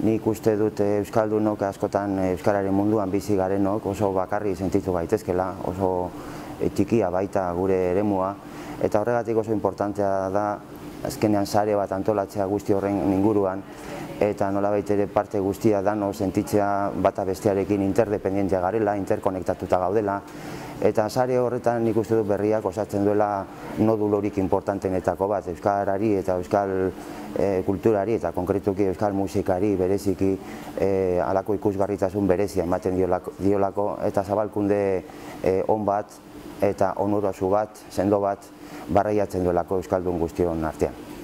nik uste dut euskaldunok askotan euskararen munduan bizi garenok oso bakarri sentitu gaitezkela, oso txikia baita gure eremua, eta horregatik oso importantea da azkenean sare bat antolatzea guzti horren inguruan, eta nolabait ere parte guztia dano sentitzea bata bestearekin interdependentia garela, interkonektatuta gaudela, eta sare horretan nik uste dut berriak osatzen duela nodulorik importantenetako bat, euskarari eta euskal kulturari eta konkretuki euskal musikari bereziki halako ikusgarritasun berezia ematen diolako eta zabalkunde on bat eta onurosu bat, sendo bat barreiatzen duelako euskaldun guztion artean.